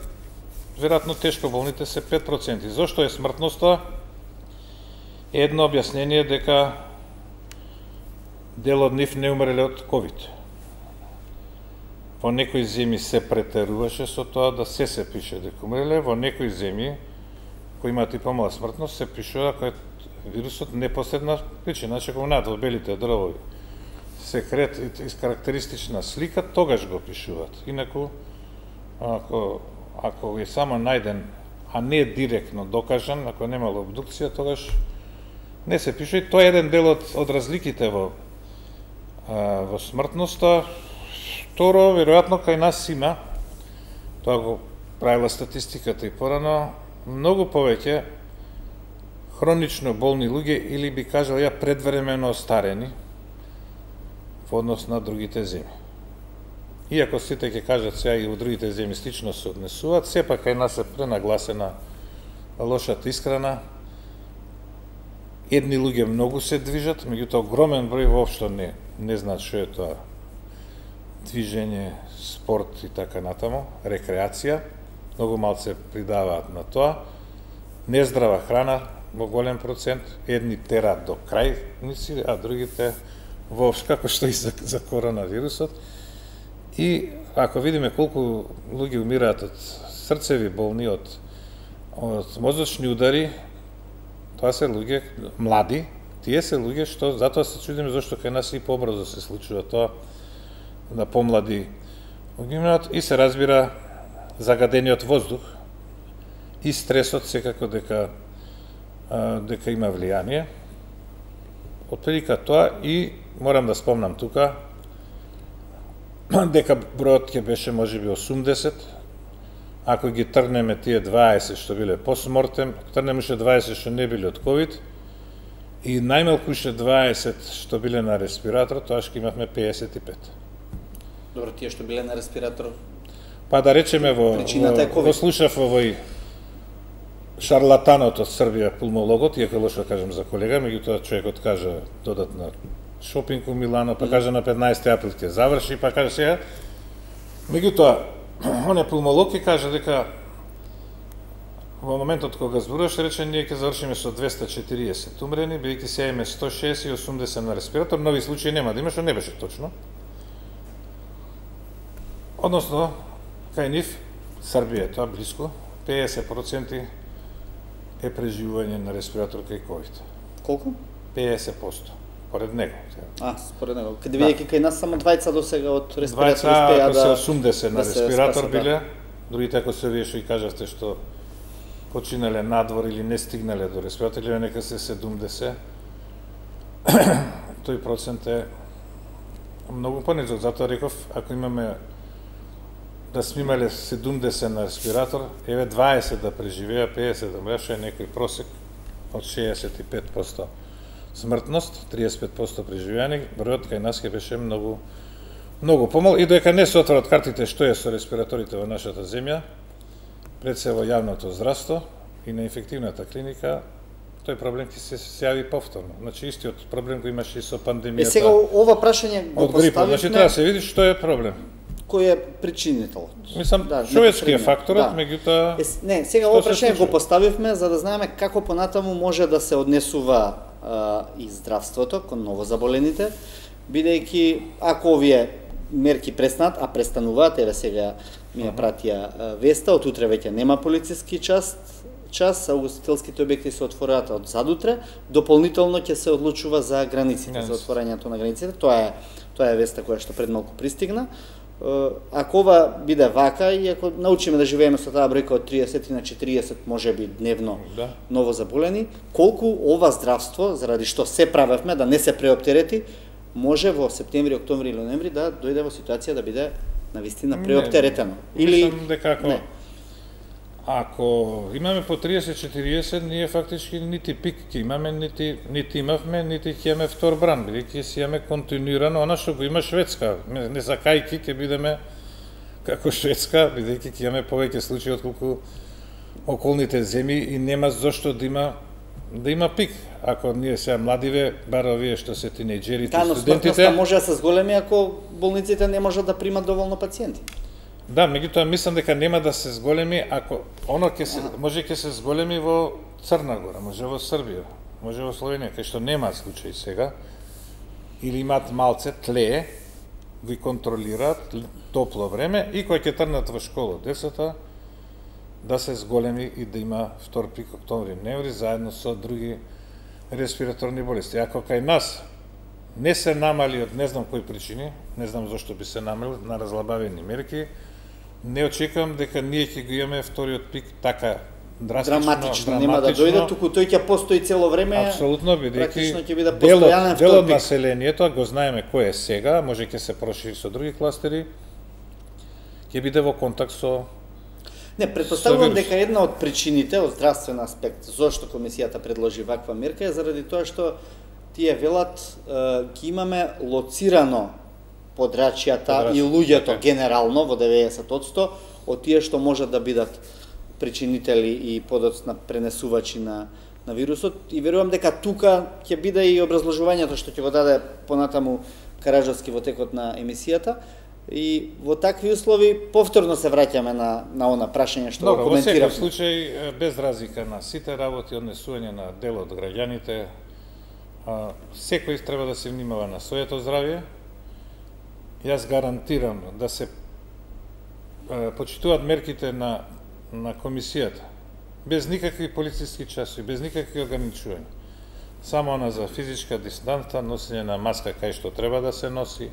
веројатно тешко болните се пет проценти. Зошто е смртноста? Едно објаснение е дека дел од нив не умреле од ковид. Во некои земји се претеруваше со тоа да се се пише дека умреле, во некои земји кои имаат и помала смртност се пишува дека вирусот непосредна причина, значи кога над во белите дровови се крет и карактеристична слика, тогаш го пишуваат. Инаку ако ако е само најден, а не директно докажан, ако немало обдукција, тогаш не се пише. И тоа е еден дел од, од разликите во а, во смртноста. Второ, веројатно кај нас има, тоа го правила статистиката и порано, многу повеќе хронично болни луѓе или би кажал ја предвремено остарени во однос на другите земји. Иако сите ќе кажат сега и во другите земји слично се однесуваат, сепак кај нас е пренагласена лошата исхрана. Едни луѓе многу се движат, меѓутоа огромен број воопшто не не знаат што е тоа движење, спорт и така натаму, рекреација. Многу малце придаваат на тоа. Нездрава храна во голем процент, едни тераат до крајници, а другите воопшто, како што и за, за коронавирусот. И ако видиме колку луѓе умираат од срцеви болни, од, од мозочни удари, тоа се луѓе млади, тие се луѓе што, затоа се чудиме зашто кај нас и побрзо се случува тоа, на помлади луѓе умираат, и се разбира загадениот воздух и стресот секако дека а, дека има влијание. Отприлика тоа, и морам да спомнам тука дека бројот ќе беше можеби осумдесет, ако ги тргнеме тие дваесет што биле постмортем, тргнеме уште дваесет што не биле од ковид, и најмалку уште дваесет што биле на респиратор, тоа што имавме пеесет и пет. Добро, тие што биле на респиратор. Па да речеме во, Причината е во, ковид. во слушав овој шарлатанот од Србија, пулмологот, иако лошо кажам за колега, меѓутоа човекот кажа додатна шопинг у Милано, па кажа на петнаесети април ќе заврши, па кажа сега. Меѓутоа, оне пулмолог ќе каже дека во моментот кога зборуваш, рече, ние ќе завршиме со двеста и четириесет умрени, бидејќи сега име сто шеесет и осумдесет на респиратор, нови случаи нема да има, што не беше точно. Односно, кај нив, Србија, тоа близко, педесет проценти е преживување на респиратор кај ковид. Колку? педесет проценти, поред него. А, според него. Каде бидејќи кај нас само двајца до сега од респиратор двајца, успеа ако се да осумдесет на да се респиратор спасат, биле, да. другите ако се вие што и кажавте што починале надвор или не стигнале до респиратор, или нека се седумдесет, тој процент е многу понизок. Затоа реков, ако имаме да сме имале седумдесет на респиратор, еве дваесет да преживеа, педесет да мреше, е некој просек од шеесет и пет проценти смртност, триесет и пет проценти преживеани, бројот кај нас ќе беше многу многу помал, и доека не се отворат картите што е со респираторите во нашата земја, пред се во јавното здравство и на инфективната клиника, тој проблем ќе се јави повторно. Значи истиот проблем кој имаше и со пандемијата. Е сега ова прашање го од грипот, значи треба поставивме, да се види што е проблем. кој е причинителот. Мислам, Да, човечки е непосредниот, факторот, да. меѓутоа Е, не, сега што ова се прашање го случува? поставивме за да знаеме како понатаму може да се однесува а, и здравството кон новозаболените, бидејќи ако овие мерки престанат, а престануваат, еве сега ми ја пратија а, веста, од утре веќе нема полициски час, час, а угостителските објекти се отвораат од задутре, дополнително ќе се одлучува за границите, Yes. за отворањето на границите. Тоа е тоа е веста која што пред малку пристигна. Е, Ако ова биде вака и ако научиме да живееме со таа бројка од триесет на четириесет можеби дневно Да. новозаболени, колку ова здравство, заради што се правевме да не се преоптерети, може во септември, октомври или ноември да дојде во ситуација да биде навистина преоптеретено. Или мислам дека ако не. ако имаме по триесет четириесет, ние фактички нити пик ќе имаме, нити нити имавме, нити ќе имаме втор бран, бидејќи си имаме континуирано она што го има Шведска. Не, не сакајки ќе бидеме како Шведска, бидејќи ќе имаме повеќе случаи отколку околните земји и нема зошто да има да има пик. Ако ние сега младиве, бар овие што се тинејџерите, Таа, но студентите, смртноста може да се зголеми ако болниците не можат да примат доволно пациенти. да, меѓутоа мислам дека нема да се зголеми ако оно ќе се може ќе се зголеми во Црна Гора, може во Србија, може во Словенија, кај што нема случаи сега, или имаат малце тлее, ги контролираат топло време и кога ќе трнат во школа децата, да се зголеми и да има втор пик октомври, ноември заедно со други респираторни болести. Ако кај нас не се намали од не знам кои причини, не знам зошто би се намали на разлабавени мерки, не очекувам дека ние ќе го имаме вториот пик така драстично, Драматично, нема да дојде, туку тој ќе постои цело време. Апсолутно, практично ќе бидејќи биде делот, постојанен дел втор од пик. населението, го знаеме кој е сега, може ќе се прошири со други кластери, ќе биде во контакт со Не, претпоставувам вирус. дека една од причините од здравствен аспект зошто комисијата предложи ваква мерка е заради тоа што тие велат е, ги имаме лоцирано подрачјата Подрачјата, и луѓето така. генерално во деветдесет одсто од тие што можат да бидат причинители и подоцна пренесувачи на на вирусот и верувам дека тука ќе биде и образложувањето што ќе го даде понатаму Караджовски во текот на емисијата. И во такви услови повторно се враќаме на на она прашање што Добро, го во секој коментиравме. случај, е, без разлика на сите работи, однесување на дел од граѓаните, а, секој треба да се внимава на своето здравје. Јас гарантирам да се е, почитуваат мерките на на комисијата, без никакви полициски часови, без никакви ограничувања. Само она за физичка дистанца, носење на маска кај што треба да се носи,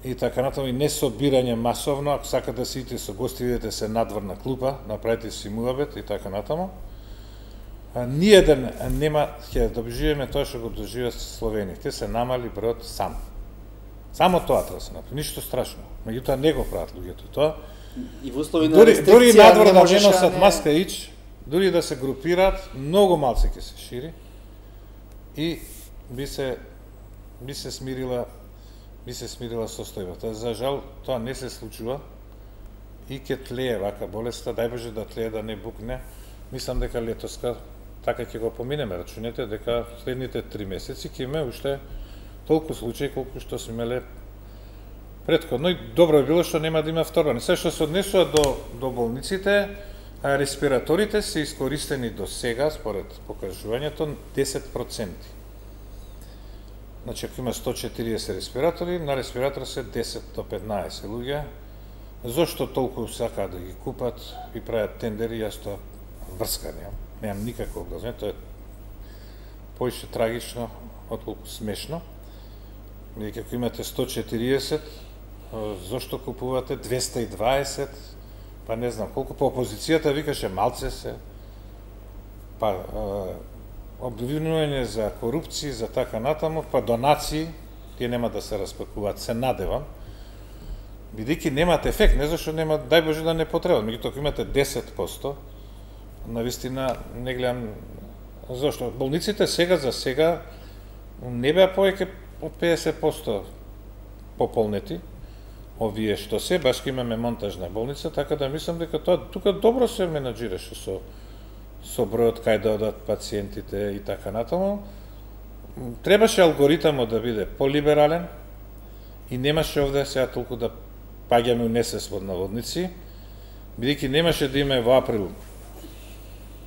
и така натаму, и не собирање масовно, ако сакате да сидите со гости, идете се надворна клупа, направете си муабет и така натаму. А, ниеден нема, ќе доживеме тоа што го доживеа Словенија. Те се намали бројот сам. Само тоа треба да се направи, ништо страшно. Меѓутоа не го прават луѓето тоа. И во услови на Дури, дури рестрикција надвор не да можеш не а носат не- маска ич, дури да се групираат, многу малце ќе се шири и би се би се смирила би се смирила состојбата. За жал тоа не се случува и ќе тлее вака болеста, дај Боже да тлее, да не букне, мислам дека летоска така ќе го поминеме. Рачунете дека следните три месеци ќе имаме уште толку случаи колку што сме имеле претходно, и добро би било што нема да има вторбани. Се што се однесува до, до болниците, респираторите се искористени до сега, според покажувањето, десет проценти. Значи, ако има сто четириесет респиратори, на респиратор се десет до петнаесет луѓе. Зошто толку сакаат да ги купат и прават тендери, јас тоа врска немам. Немам никакво образование, тоа е поише трагично, отколку смешно. Бидејќи ако имате сто четириесет, зошто купувате двеста и дваесет, па не знам колку, по опозицијата викаше малце се, па обвинување за корупција, за така натаму, па донации, тие нема да се распакуваат, се надевам, бидејќи немат ефект, не зашто нема, дај Боже да не потребат, меѓутоа ако имате десет проценти, навистина не гледам зашто. Болниците сега за сега не беа повеќе од педесет проценти пополнети, овие што се, баш имаме монтажна болница, така да мислам дека тоа тука добро се менаџираше со со бројот кај да одат пациентите и така натаму. Требаше алгоритамот да биде полиберален и немаше овде сега толку да паѓаме у несвест под наводници, бидејќи немаше да има во април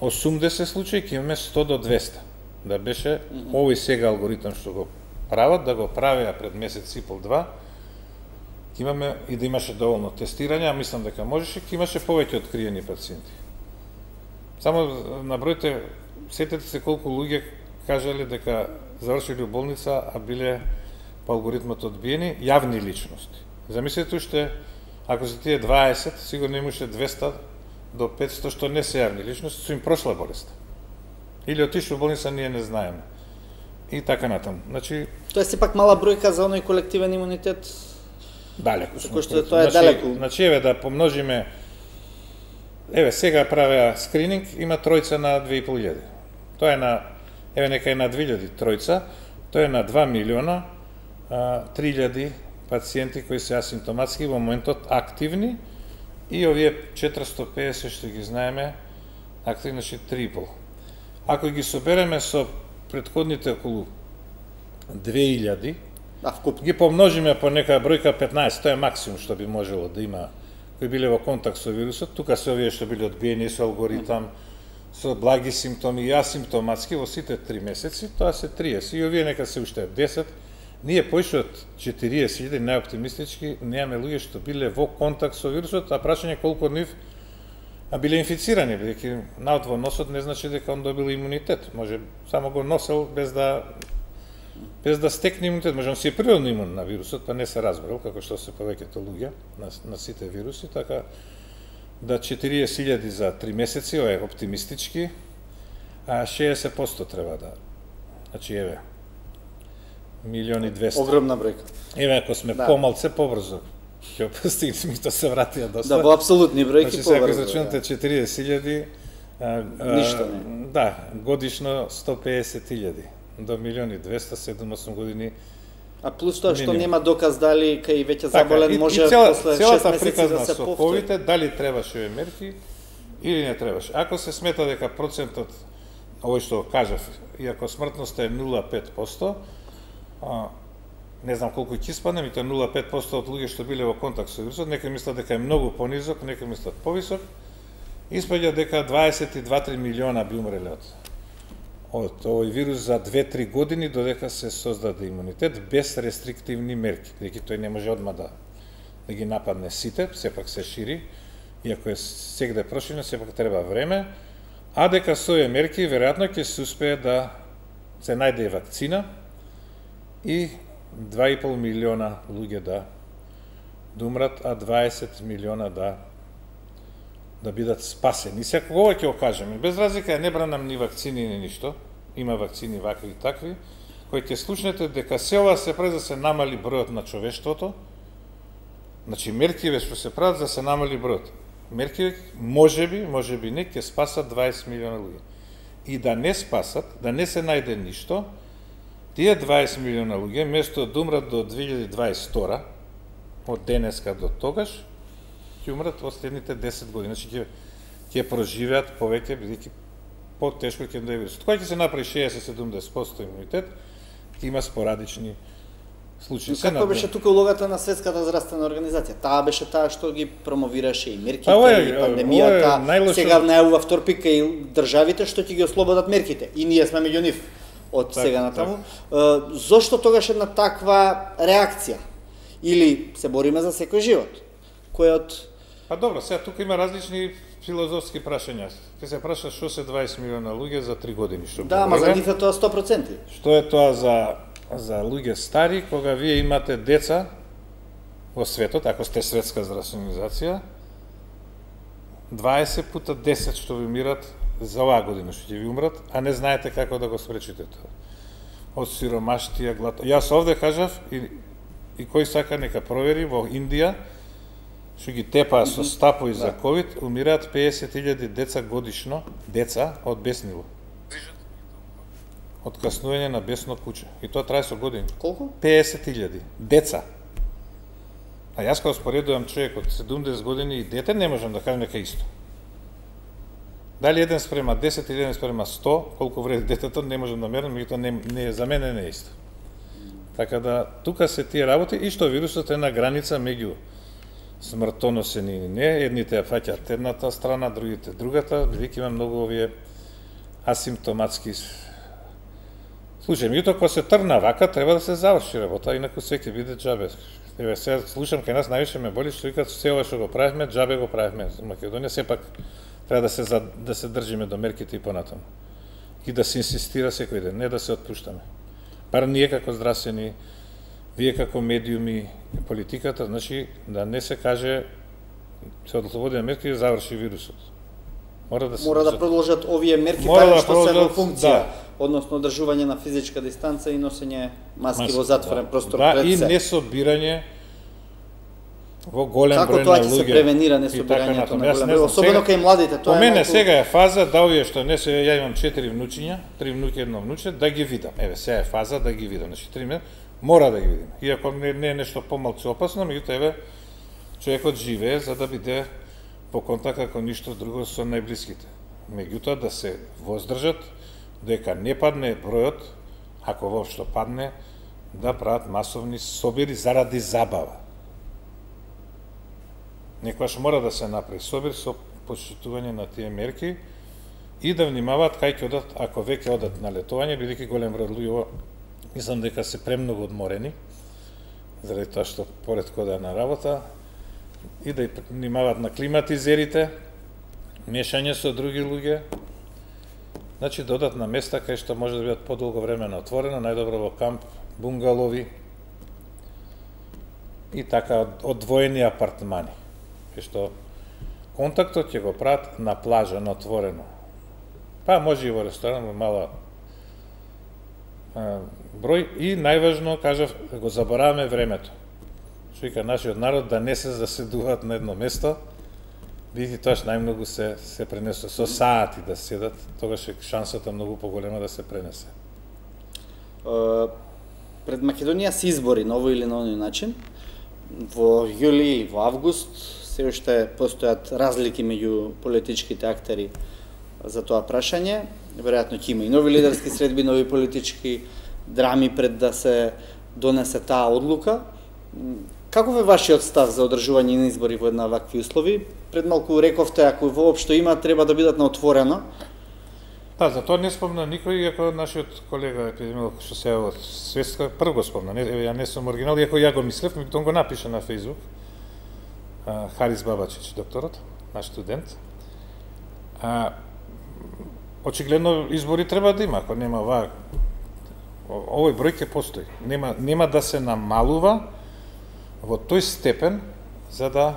осумдесет случаи, ќе имаме сто до двеста. Да беше овој сега алгоритам што го прават, да го правеа пред месец и пол два, ќе имаме и да имаше доволно тестирање, а мислам дека можеше, ќе имаше повеќе откриени пациенти. Само набројте, сетете се колку луѓе кажале дека завршиле у болница, а биле по алгоритмот одбиени, јавни личности. Замислете уште, ако се тие дваесет, сигурно имаше двеста до петсто што не се јавни личности, со им прошла болест. Или отишло во болница, ние не знаеме. И така натаму. Значи, тоа е сепак мала бројка за оној колективен имунитет. Далеку. Кој што тоа е далеку. Значи, еве да помножиме, еве сега правеа скрининг, има тројца на две и пол илјади. Тоа е на, еве нека е на две илјади тројца, тоа е на два милиона три илјади пациенти кои се асимптоматски во моментот активни, и овие четиристо педесет што ги знаеме активни, значи три и пол. Ако ги собереме со претходните околу две илјади, а вкуп ги помножиме по нека бројка петнаесет, тоа е максимум што би можело да има кои биле во контакт со вирусот. Тука се овие што биле одбиени со алгоритам, со благи симптоми и асимптоматски во сите три месеци, тоа се триесет. И овие нека се уште десет. Ние поише од четириесет илјади, најоптимистички, немаме луѓе што биле во контакт со вирусот, а прашање колку од нив а биле инфицирани, бидејќи наод во носот не значи дека он добил имунитет. Може само го носел без да без да стекне имунитет. Може он си е природно имун на вирусот, па не се разбрал, како што се повеќето луѓе на, на сите вируси, така да четириесет илјади за три месеци, ова е оптимистички, а шеесет проценти треба да. Значи еве милиони и двесте. Огромна бројка. Еве ако сме да. Помалце побрзо ќе постигнеме, што се вратија доста. Да, во апсолутни бројки значи, побрзо. Значи, сега израчунате четириесет илјади, ништо не. Да, годишно сто педесет илјади до милиони и двесте, седум-осум години. А плюс тоа што нема доказ дали кај веќе така, заболен и, може и цела, после шест месеци приказна да се со повтори. ковид, дали требаше овие мерки или не требаше. Ако се смета дека процентот, овој што кажав, иако смртноста е нула целу пет проценти, а, не знам колку ќе испадне, ми тоа нула целу пет проценти од луѓе што биле во контакт со вирусот, некои мислат дека е многу понизок, некои мислат повисок, испаѓа дека дваесет и два до три милиона би умреле од од овој вирус за две-три години додека се создаде имунитет без рестриктивни мерки, бидејќи тој не може одма да, да ги нападне сите, сепак се шири, иако е сегде проширено, сепак треба време, а дека со овие мерки веројатно ќе се успее да се најде вакцина и два и пол милиона луѓе да умрат, а дваесет милиона да да бидат спасени. Сега ова ќе го кажеме, без разлика не бранам ни вакцини ни ништо, има вакцини вакви и такви, кои ќе слушнете дека се ова се прави за се намали бројот на човештвото. Значи меркиве што се прават за се намали бројот. Меркиве можеби, можеби не ќе спасат дваесет милиона луѓе. И да не спасат, да не се најде ништо, тие дваесет милиона луѓе место да умрат до две илјади дваесет и втора, од денеска до тогаш, ќе умрат во следните десет години. Значи ќе ќе проживеат повеќе, бидејќи потешко ќе да е вирусот. Кога ќе се направи шеесет до седумдесет проценти имунитет, ќе има спорадични случаи. Но како беше тука улогата на Светската здравствена организација? Таа беше таа што ги промовираше и мерките, и пандемијата. Најлошо... Сега најавува втор пика и државите што ќе ги ослободат мерките. И ние сме меѓу нив од так, сега натаму. Так. Зошто тогаш една таква реакција? Или се бориме за секој живот? Кој од... Па добро, сега тука има различни филозофски прашања. Ке се праша што се дваесет милиона луѓе за три години, што да, ама за нив е тоа сто проценти. Што е тоа за за луѓе стари, кога вие имате деца во светот, ако сте светска здравствена организација, дваесет пута десет што ви умират за оваа година што ќе ви умрат, а не знаете како да го спречите тоа. Од сиромаштија, глад. Јас овде кажав и и кој сака нека провери во Индија што ги тепаа со стапои за ковид, умираат песет илјади деца годишно, деца од беснило. Од каснување на бесно куче. И тоа трае со години. Колку? песет илјади деца. А јас кога споредувам човек од седумдесет години и дете, не можам да кажам дека исто. Дали еден спрема десет или еден спрема сто, колку вреди детето, не можам да мерам, меѓутоа не, не за мене не е исто. Така да тука се тие работи и што вирусот е на граница меѓу смртоносен и не, едните ја фаќаат едната страна, другите другата, бидејќи има многу овие асимптоматски случаи. Меѓутоа кога се тргна вака, треба да се заврши работа, инаку се ќе биде џабе. Еве сега слушам кај нас највише ме боли што викаат се ова што го правевме, џабе го правевме. Македонија сепак треба да се за, да се држиме до мерките и понатаму. И да се инсистира секој ден, не да се отпуштаме. Бар ние како здравствени, вие како медиуми, политиката, значи да не се каже се ослободиме мерки и заврши вирусот. Мора да се Мора да продолжат овие мерки така да што се во функција, да. Односно одржување на физичка дистанца и носење маски, маски во затворен да. простор да, пред се. Да, и не собирање во голем Како број на луѓе. Како тоа ќе се превенира несобирањето на голем број, особено кај младите, тоа е. По мене малку... сега е фаза да овие што не се, ја имам четири внучиња, три внуки, едно внуче, да ги видам. Еве сега е фаза да ги видам, значи три мора да ги видим. Иако не, не е нешто помалку опасно, меѓутоа еве човекот живее за да биде во контакт како ништо друго со најблиските. Меѓутоа да се воздржат дека не падне бројот, ако воопшто падне, да прават масовни собири заради забава. Некојаш мора да се направи собир со почитување на тие мерки и да внимаваат кај ќе одат, ако веќе одат на летување, бидејќи голем број луѓе, мислам дека се премногу одморени, заради тоа што поред кода на работа, и да внимаваат на климатизерите, мешање со други луѓе, значи да одат на места кај што може да бидат подолго време на отворено, најдобро во камп, бунгалови и така одвоени апартмани, кај што контактот ќе го прават на плажа, на отворено. Па може и во ресторан, во мала а, број и најважно, кажав, го забораваме времето. Што вика нашиот народ да не се заседуваат на едно место, бидејќи тоа најмногу се се пренесува со саати да седат, тогаш е шансата многу поголема да се пренесе. Uh, пред Македонија се избори на овој или на оној начин. Во јули или во август се уште постојат разлики меѓу политичките актери за тоа прашање. Веројатно ќе има и нови лидерски средби, нови политички драми пред да се донесе таа одлука. Каков е вашиот став за одржување на избори во една вакви услови? Пред малку рековте, ако воопшто има, треба да бидат на отворено. Да, за тоа не спомна никој, иако нашиот колега епидемиолог што се од Светска прв го спомна. Не, ја не сум оригинал, иако ја го мислев, меѓутоа го напиша на Фејсбук. Харис Бабачич, докторот, наш студент. А, очигледно избори треба да има, ако нема ова, овој број ќе постои. Нема нема да се намалува во тој степен за да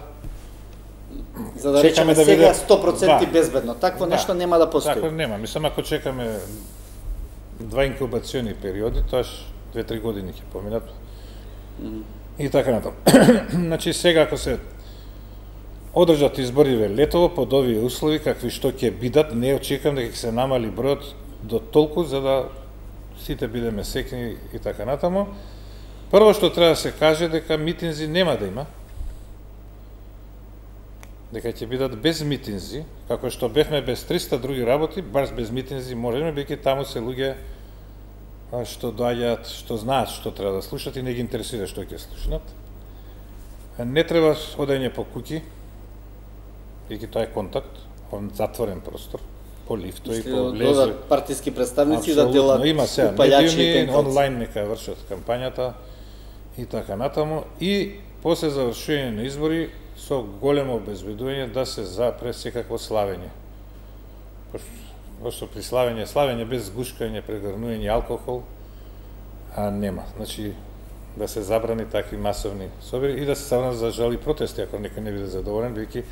за да речеме да сега сто проценти да, безбедно. Такво да, нешто нема да постои. Такво нема. Мислам, ако чекаме два инкубациони периоди, тоаш две-три години ќе поминат. Mm -hmm. И така натаму. Значи сега ако се одржат избори ве летово под овие услови какви што ќе бидат, не очекувам дека ќе се намали бројот до толку за да сите бидеме секни и така натаму. Прво што треба да се каже дека митинзи нема да има. дека ќе бидат без митинзи, како што бевме без триста други работи, баш без митинзи можеме, бидејќи таму се луѓе што доаѓаат, што знаат што треба да слушат и не ги интересира што ќе слушнат. Не треба одење по куќи, бидејќи тоа е контакт, затворен простор, по лифтови, по влезе. Партиски представници да делат упајачи и онлайн нека вршат кампањата и така натаму. И после завршување на избори со големо обезбедување да се запре секакво славење. Пошто при славење, славење без гушкање, прегрнување алкохол, а нема. Значи, да се забрани такви масовни собери и да се забрани за жали протести, ако некој не биде задоволен, бидејќи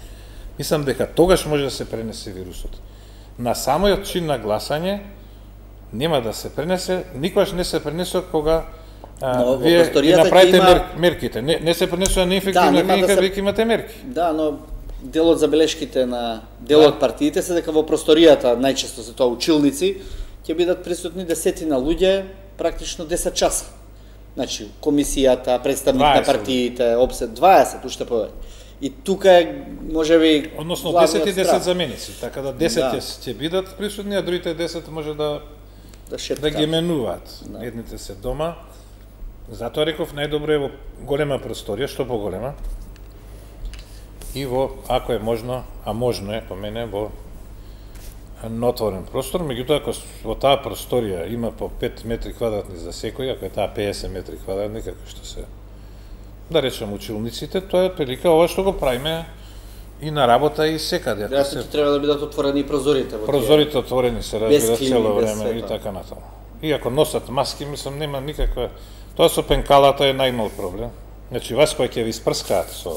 мислам дека тогаш може да се пренесе вирусот. На самиот чин на гласање нема да се пренесе, никогаш не се пренесува кога а, но, вие ги направите има... мер, мерките. Не, не се пренесува неинфективна да, клиника, да веќе се... имате мерки. Да, но дел од забелешките на дел од да. партиите се дека во просторијата, најчесто се тоа училници, ќе бидат присутни десетина луѓе, практично десет часа. Значи, комисијата, представник на партиите, обсет дваесет, уште повеќе. И тука е, можеби, односно десет и десет заменици, така да десет да. ќе бидат присутни, а другите десет може да да, да ги менуваат. Да. Едните се дома. Затоа реков најдобро е во голема просторија, што поголема. И во, ако е можно, а можно е, по мене, во отворен простор, меѓутоа, ако во таа просторија има по пет метри квадратни за секој, ако е таа педесет метри квадратни, како што се, да речем, училниците, тоа е прилика ова што го правиме и на работа и секаде. Да, се... треба да бидат отворени прозорите. Прозорите отворени се разбира цело време и така натаму. И ако носат маски, мислам, нема никаква... Тоа со пенкалата е најмал проблем. Значи, вас кој ќе ви спрскаат со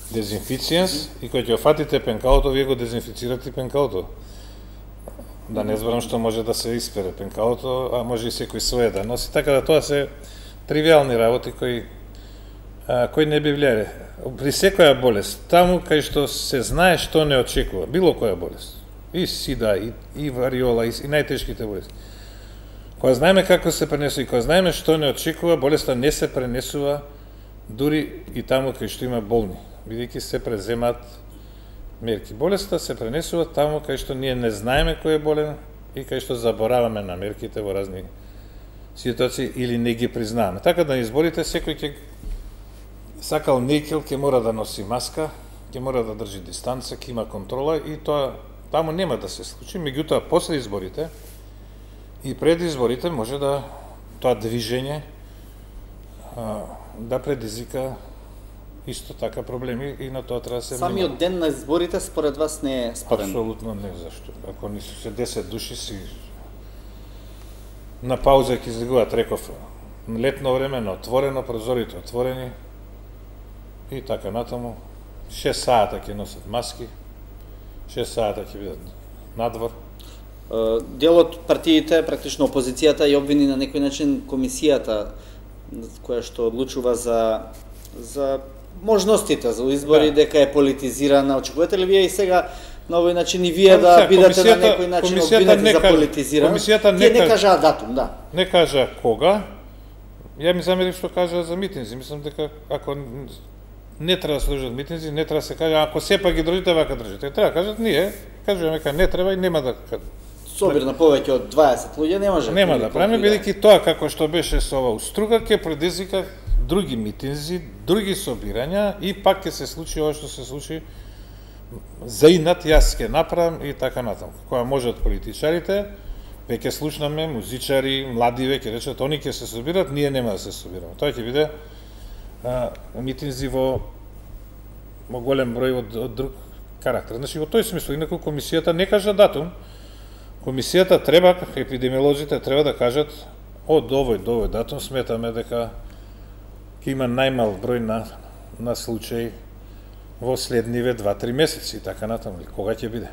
дезинфициенс и кој ќе офатите пенкалото, вие го дезинфицирате пенкалото. Да не зборам што може да се испере пенкалото, а може и секој свое да носи. Така да тоа се тривиални работи кои а, кои не би влијале. При секоја болест, таму кај што се знае што не очекува, било која болест, и сида, и, и вариола, и, и најтешките болести. Кога знаеме како се пренесува и кога знаеме што не очекува, болеста не се пренесува дури и таму кај што има болни, бидејќи се преземат мерки. Болеста се пренесува таму кај што ние не знаеме кој е болен и кај што забораваме на мерките во разни ситуации или не ги признаваме. Така да на изборите секој ќе сакал некил ќе мора да носи маска, ќе мора да држи дистанца, ќе има контрола и тоа таму нема да се случи. Меѓутоа после изборите и пред изборите може да тоа движење а, да предизвика исто така проблеми и на тоа треба да се внимава. Самиот ден на изборите според вас не е спорен? Апсолутно не, зашто? Ако не се десет души си на пауза ќе излегуваат, реков, летно време, на отворено, прозорите отворени и така натаму. шест сата ќе носат маски, шест сата ќе бидат надвор. Дел од партиите, практично опозицијата, ја обвини на некој начин комисијата која што одлучува за за можностите за избори, да. дека е политизирана. Очекувате ли вие и сега на овој начин и вие да бидете на некој начин обвинети за политизирана? Комисијата не, не кажа датум, да. Не кажа кога. Ја ми замерив што кажа за митинзи. Мислам дека ако не треба да се држат митинзи, не треба да се каже, ако сепак ги држите, вака држите. Треба да кажат, ние, кажуваме дека не треба и нема да... Собир на повеќе од дваесет луѓе не може. Нема да правиме, бидејќи тоа како што беше со ова уструга, ќе предизвика други митинзи, други собирања и пак ќе се случи ова што се случи за инат, јас ќе направам и така натаму. Кога можат политичарите, веќе слушнаме, музичари, млади веќе речат, они ќе се собират, ние нема да се собираме. Тоа ќе биде а, митинзи во, во голем број од, од друг карактер. Значи, во тој смисла, инаку комисијата не кажа датум, комисијата треба, епидемиолозите треба да кажат од овој до овој датум сметаме дека ќе има најмал број на, на случаи во следниве два-три месеци и така натаму. Кога ќе биде?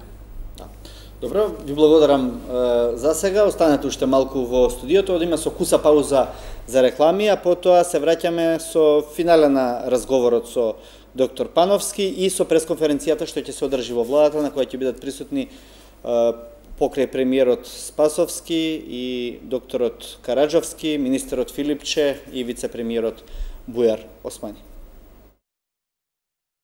Добро, ви благодарам е, за сега. Останете уште малку во студиото, одиме со куса пауза за реклами, а потоа се враќаме со финален на разговорот со доктор Пановски и со пресконференцијата што ќе се одржи во владата, на која ќе бидат присутни е, покрај премиерот Спасовски и докторот Караджовски, министерот Филипче и вице-премиерот Бујар Османи.